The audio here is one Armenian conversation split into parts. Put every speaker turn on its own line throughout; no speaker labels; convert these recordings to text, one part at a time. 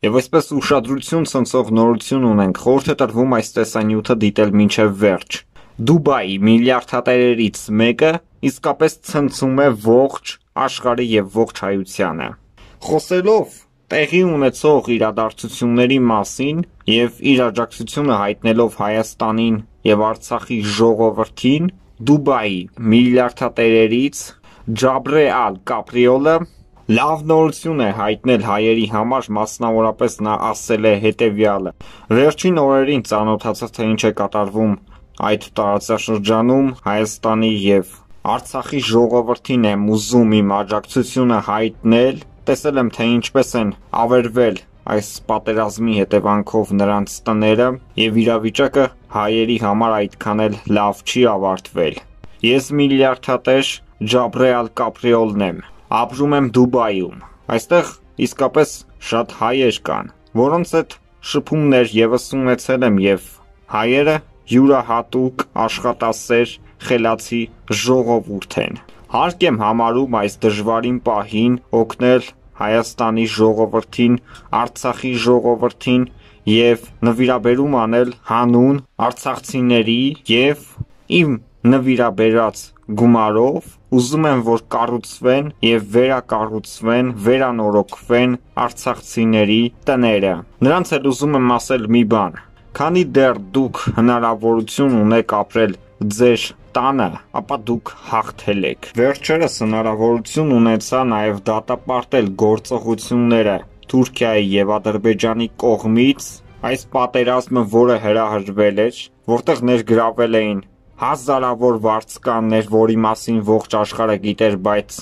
Եվ այսպես ուշադրություն ցնցող նորություն ունենք, խորհուրդ է տրվում այս տեսանյութը դիտել մինչև վերջ։ Դուբայի միլիարդատերերից մեկը իսկապես ցնցում է ողջ աշխարհը եւ ողջ հայությանը։ Խոսելով տեղի ունեցող իրադարձությունների մասին եւ իր աջակցությունը հայտնելով Հայաստանին եւ Արցախի ժողովրդին, Դուբայի միլիարդատերերից Ջաբրե Ալ Կապրիոլը լավ նորություն է հայտնել հայերի համար, մասնավորապես նա ասել է հետևյալը. Վերջին օրերին ծանոթացա, թե ինչ է կատարվում այդ տարածաշրջանում Հայաստանի եւ Արցախի ժողովրդին եմ ուզում իմ աջակցությունը հայտնել, տեսել եմ, թե ինչպես են ավերվել այս պատերազմի հետևանքով նրանց տները եւ իրավիճակը հայերի համար այդքան էլ լավ չի ավարտվել։ Ես միլիարդատեր Ջաբրե Ալ Կապրիոլն եմ, ապրում եմ Դուբայում։ Այստեղ իսկապես շատ հայեր կան, որոնց հետ շփումներ եւս ունեցել եմ եւ հայերը յուրահատուկ աշխատասեր խելացի ժողովուրդ են։ Հարկ եմ համարում այս դժվարին պահին օգնել Հայաստանի ժողովրդին, Արցախի ժողովրդին եւ նվիրաբերում անել հանուն արցախցիների եւ իմ նվիրաբերած գումարով ուզում եմ, որ կառուցվեն եւ վերակառուցվեն, վերանորոգվեն արցախցիների տները։ Նրանց էլ ուզում եմ ասել մի բան. քանի դեռ դուք հնարավորություն ունեք ապրել ձեր տանը, ապա դուք հաղթել եք։ Վերջերս հնարավորություն ունեցա նաեւ դատապարտել գործողությունները Թուրքիայի եւ Ադրբեջանի կողմից այս պատերազմը, որը հրահրվել էր, որտեղ ներգրավել էին հազարավոր վարձկաններ, որի մասին ողջ աշխարհը գիտեր, բայց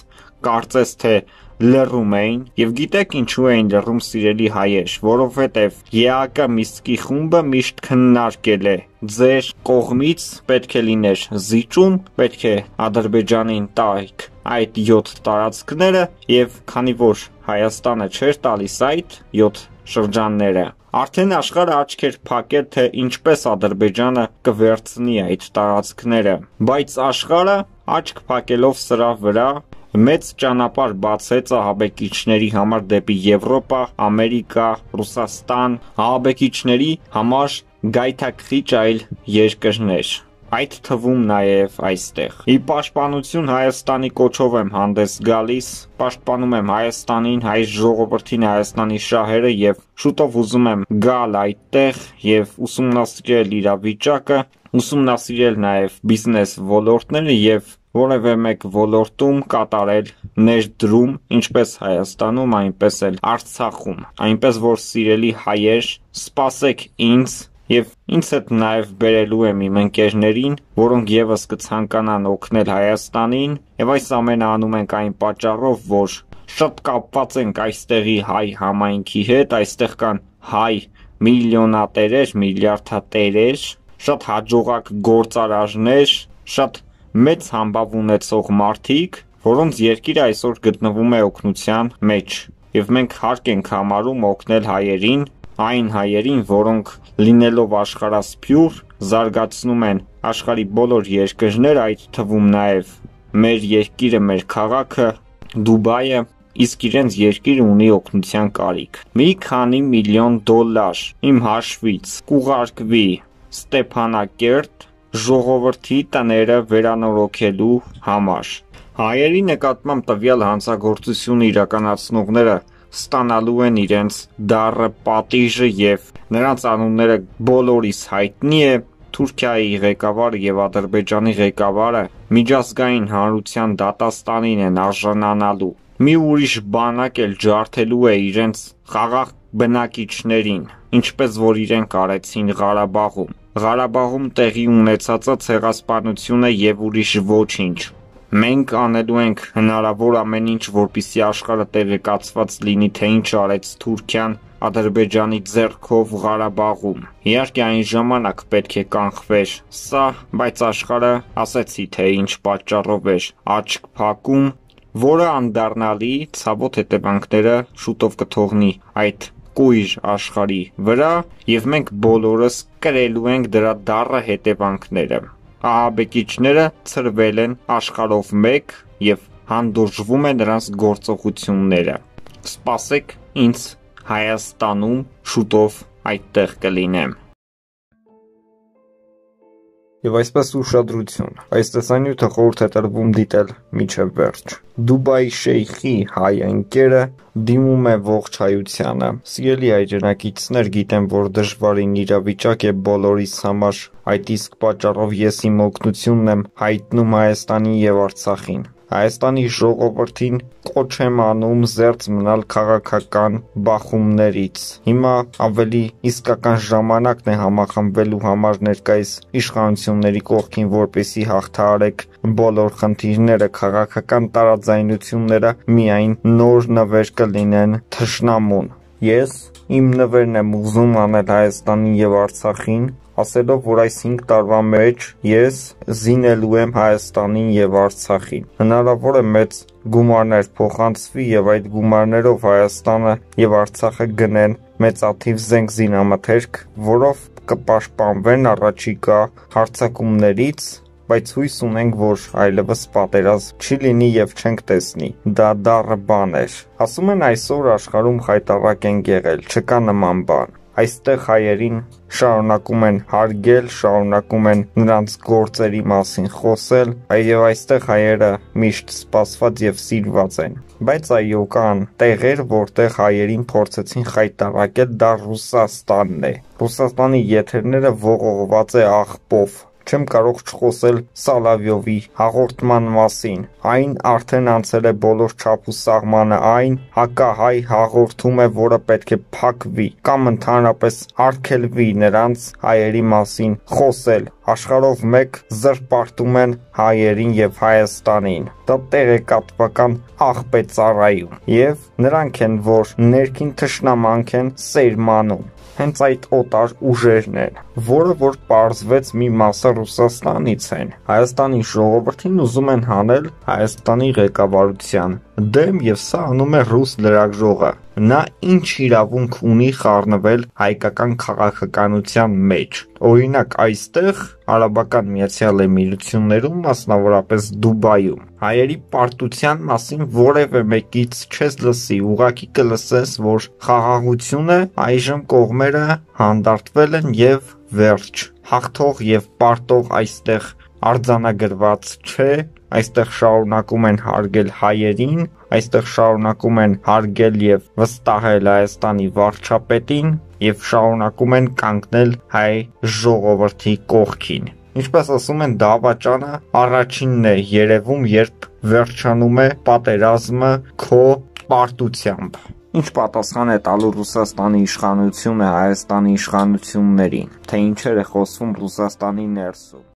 կարծես թե լռում էին, եւ գիտեք ինչու էին լռում, սիրելի հայեր, որովհետեւ ԵԱԿ Միսկի խումբը միշտ քննարկել է ձեր կողմից պետք է լիներ զիջում, պետք է Ադրբեջանին տայք այդ 7 տարածքները, եւ քանի որ Հայաստանը չէր տալիս այդ 7 շրջանները, արդեն աշխարհը աչք էր փակել, թե ինչպես Ադրբեջանը կվերցնի այդ տարածքները, բայց աշխարհը աչք փակելով սրա վրա մեծ ճանապարհ բացեց ահաբեկիչների համար դեպի Եվրոպա, Ամերիկա, Ռուսաստան, ահաբեկիչների համար գայթակղիչ այլ երկրներ, այդ թվում նաև այստեղ։ Ի պաշտպանություն Հայաստանի կոչով եմ հանդես գալիս, պաշտպանում եմ Հայաստանին, հայ ժողովրդին, Հայաստանի շահերը եւ շուտով ուզում եմ գալ այդտեղ եւ ուսումնասիրել իրավիճակը, ուսումնասիրել նաև բիզնես ոլորտները եւ որևէ մեկ ոլորտում կատարել ներդրում, ինչպես Հայաստանում, այնպես էլ Արցախում, այնպես որ սիրելի հայեր, սպասեք ինձ եւ ինձ հետ նաեւ բերելու եմ իմ ընկերներին, որոնք եւս կցանկանան օգնել Հայաստանին, եւ այս ամենը անում ենք այն պատճառով, որ շատ կապված ենք այստեղի հայ համայնքի հետ, այստեղ կան հայ միլիոնատերեր, միլիարդատերեր, շատ հաջողակ գործարարներ, շատ մեծ համբավ ունեցող մարդիկ, որոնց երկիրը այսօր գտնվում է օգնության մեջ, եւ մենք հարկ ենք համարում օգնել հայերին, այն հայերին, որոնք լինելով աշխարհասփյուր, զարգացնում են աշխարհի բոլոր երկրներ, այդ թվում նաև մեր երկիրը, մեր քաղաքը, Դուբայը, իսկ իրենց երկիրը ունի օգնության կարիք։ Մի քանի միլիոն դոլար իմ հաշվից կուղարկվի Ստեփանակերտ ժողովրդի տները վերանորոգելու համար։ Հայերի նկատմամբ տվյալ հանցագործություն իրականացնողները ստանալու են իրենց դառը պատիժը եւ նրանց անունները բոլորիս հայտնի է։ Թուրքիայի ղեկավարը եւ Ադրբեջանի ղեկավարը միջազգային հանրության դատաստանին են արժանանալու։ Մի ուրիշ բանակ էլ ջարդելու է իրենց խաղաղ բնակիչներին, ինչպես որ իրենք արեցին Ղարաբաղում։ Ղարաբաղում տեղի ունեցածը ցեղասպանություն է եւ ուրիշ ոչինչ։ Մենք անելու ենք հնարավոր ամեն ինչ, որպեսզի աշխարհը տեղեկացված լինի, թե ինչ արեց Թուրքիան Ադրբեջանի ձեռքով Ղարաբաղում։ Իհարկե այն ժամանակ պետք է կանխվեր սա, բայց աշխարհը ասեցի, թե ինչ պատճառով էր աչք փակում, որը անդառնալի ցավոտ հետևանքները շուտով կթողնի այդ կույր աշխարհի վրա, եւ մենք բոլորս կրելու ենք դրա դառը հետևանքները։ Ահաբեկիչները ծրվել են աշխարհով մեկ եւ հանդուրժվում է նրանց գործողությունները։ Սպասեք ինձ Հայաստանում շուտով այդտեղ կլինեմ։ Եվ այսպես ուշադրություն, այս տեսանյութը խորհուրդ է տրվում դիտել մինչև վերջ։ Դուբայի շեյխի հայ ընկերը դիմում է ողջայությանը։ Սիրելի հայրենակիցներ, գիտեմ, որ դժվարին իրավիճակ է բոլորիս համար, այդ իսկ պատճառով ես իմ օգնությունն եմ հայտնում Հայաստանին եւ Արցախին։ Հայաստանի ժողովրդին կոչ եմ անում զերծ մնալ քաղաքական բախումներից։ Հիմա ավելի իսկական ժամանակն է համախմբվելու համար ներկայիս իշխանությունների կողքին, որպեսզի հաղթահարեք բոլոր խնդիրները, քաղաքական տարաձայնությունները միայն նոր նվեր կլինեն թշնամուն։ Ես իմ նվերն եմ ուզում անել Հայաստանին եւ Արցախին, ասելով, որ այս 5 տարվա մեջ ես զինելու եմ Հայաստանին եւ Արցախին։ Հնարավոր է մեծ գումարներ փոխանցվի եւ այդ գումարներով Հայաստանը եւ Արցախը գնեն մեծաթիվ զենք զինամթերք, որով կպաշտպանվեն առաջիկա հարձակումներից, բայց հույս ունենք, որ այլևս պատերազմ չի լինի եւ չենք տեսնի։ Դա դառը բան էր։ Ասում են այսօր աշխարհում խայտառակ են եղել, չկա նման բան։ Այստեղ հայերին շարունակում են հարգել, շարունակում են նրանց գործերի մասին խոսել, այո, այստեղ հայերը միշտ սպասված եւ սիրված են։ Բայց այո, կան տեղեր, որտեղ հայերին փորձեցին խայտառակել, դա Ռուսաստանն է։ Ռուսաստանի եթերները ողողված է աղբով։ Չեմ կարող չխոսել Սալավյովի հաղորդման մասին։ Այն արդեն անցել է բոլոր չափ ու սահմանը, այն հակահայ հաղորդում է, որը պետք է փակվի կամ ընդհանրապես արգելվի նրանց հայերի մասին խոսել։ Աշխարհով մեկ զրպարտում են հայերին եւ Հայաստանին։ Դա տեղեկատվական աղբ է ծառայում։ Եվ նրանք են, որ ներքին թշնամանք են սերմանում։ Հենց այդ օտար ուժերն են, որը որ պարզվեց մի մասը Ռուսաստանից են։ Հայաստանի ժողովրդին ուզում են հանել Հայաստանի ղեկավարության դեմ եւ սա անում է ռուս լրագրողը։ Նա ինչ իրավունք ունի խառնվել հայկական քաղաքականության մեջ։ Օրինակ, այստեղ Արաբական Միացյալ Էմիրություններում, մասնավորապես Դուբայում, հայերի պարտության մասին որևէ մեկից չես լսի, ուղղակի կլսես, որ խաղաղությունը այժմ կողմերը հանդարտվել են եւ վերջ։ Հաղթող եւ պարտող այստեղ արձանագրված չէ, այստեղ շարունակում են հարգել հայերին, այստեղ շարունակում են հարգել եւ վստահել Հայաստանի վարչապետին եւ շարունակում են կանգնել հայ ժողովրդի կողքին։ Ինչպես ասում են, դավաճանը առաջինն է երևում, երբ վերջանում է պատերազմը քո պարտությամբ։ Ինչ պատասխան է տալու Ռուսաստանի իշխանությունը Հայաստանի իշխանություններին, թե ինչեր է խոսվում Ռուսաստանի ներսում։